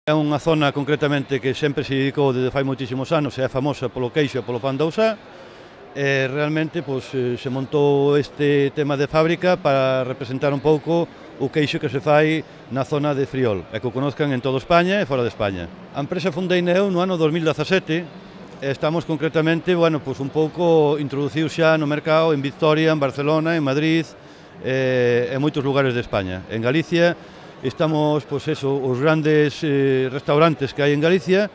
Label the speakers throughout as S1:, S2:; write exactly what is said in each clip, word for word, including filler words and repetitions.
S1: É unha zona concretamente que sempre se dedicou desde fai moitísimos anos e é famosa polo queixo e polo pan de Ousá. E realmente pois, se montou este tema de fábrica para representar un pouco o queixo que se fai na zona de Friol e que o conozcan en toda España e fora de España. A empresa fundei eu no ano dos mil dezasete e estamos concretamente, bueno, pois un pouco introducidos xa no mercado en Vitoria, en Barcelona, en Madrid e en moitos lugares de España. En Galicia estamos, pois eso, os grandes eh, restaurantes que hai en Galicia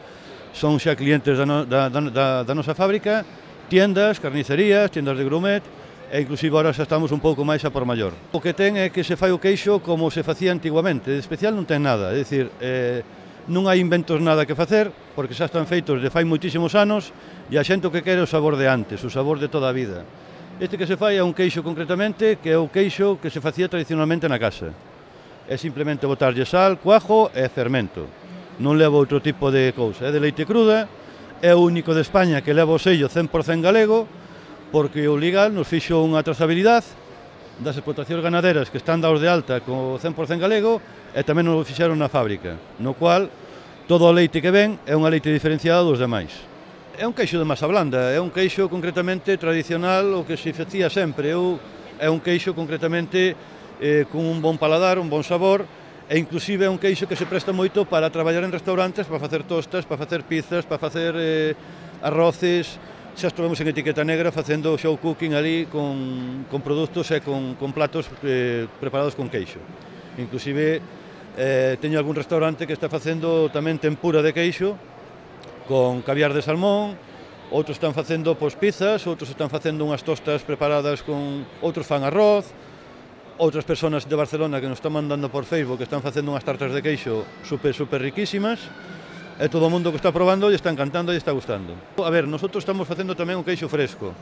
S1: son xa clientes da, no, da, da, da nosa fábrica, tiendas, carnicerías, tiendas de grumet e inclusive ahora xa estamos un pouco máis a por maior. O que ten é que se fai o queixo como se facía antiguamente, de especial non ten nada, é dicir, eh, non hai inventos nada que facer, porque xa están feitos de fai moitísimos anos e a xente o que quere o sabor de antes, o sabor de toda a vida. Este que se fai é un queixo concretamente que é o queixo que se facía tradicionalmente na casa. É simplemente botarlle sal, cuajo e fermento. Non leva outro tipo de cousa, é de leite cruda, é o único de España que leva o sello cen por cen galego, porque o legal nos fixo unha trazabilidade das explotacións ganaderas que están dados de alta co cen por cen galego e tamén nos o fixeron na fábrica, no cual todo o leite que ven é unha leite diferenciada dos demais. É un queixo de masa blanda, é un queixo concretamente tradicional, o que se facía sempre, é un queixo concretamente eh, con un bon paladar, un bon sabor, e inclusive é un queixo que se presta moito para traballar en restaurantes, para facer tostas, para facer pizzas, para facer eh, arroces. Xa estivemos en etiqueta negra facendo show cooking ali con, con produtos e con, con platos eh, preparados con queixo. Inclusive eh, teño algún restaurante que está facendo tamén tempura de queixo con caviar de salmón, outros están facendo pois, pizzas, outros están facendo unhas tostas preparadas con outros fan arroz. Outras persoas de Barcelona que nos están mandando por Facebook que están facendo unhas tartas de queixo super, super riquísimas e todo o mundo que está probando e está encantando e está gustando. A ver, nosotros estamos facendo tamén un queixo fresco,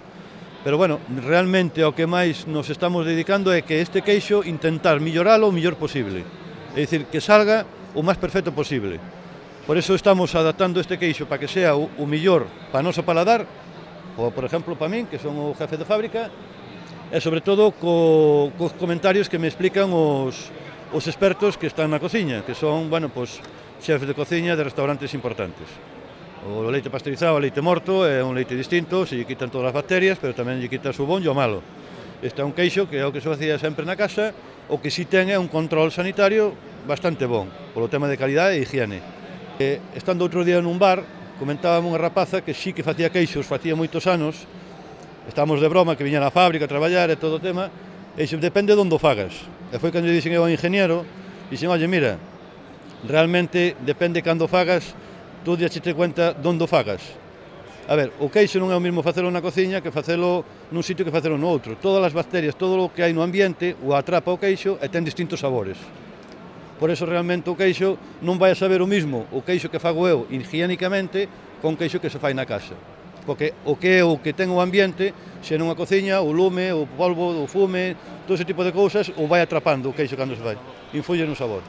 S1: pero bueno, realmente ao que máis nos estamos dedicando é que este queixo intentar milloralo o mellor posible, é dicir, que salga o máis perfecto posible. Por eso estamos adaptando este queixo para que sea o, o mellor para o noso paladar, ou por exemplo para min, que son o jefe de fábrica, e sobre todo co, cos comentarios que me explican os, os expertos que están na cociña, que son, bueno, pues, xefes de cociña de restaurantes importantes. O leite pasteurizado, o leite morto, é un leite distinto, se lle quitan todas as bacterias, pero tamén lle quita o bon e o malo. Este é un queixo que é o que se facía sempre na casa, o que si ten é un control sanitario bastante bon, polo tema de calidade e higiene. E, estando outro día nun bar, comentábame unha rapaza que sí que facía queixos, facía moitos anos, estamos de broma, que viña na fábrica a traballar e todo o tema, e iso depende de onde o fagas. E foi cando lle dixen eu ao ingeniero, dixen, oye, mira, realmente depende cando o fagas, tú diaxete cuenta de onde o fagas. A ver, o queixo non é o mesmo facelo na cociña que facelo nun sitio que facelo no outro. Todas as bacterias, todo o que hai no ambiente, o atrapa o queixo e ten distintos sabores. Por eso realmente o queixo non vai a saber o mismo o queixo que fago eu higiénicamente con queixo que se fai na casa. Porque o que é o que ten o ambiente, se nunha cociña, o lume, o polvo, o fume, todo ese tipo de cousas, o vai atrapando o queixo cando se fai, influye no sabor.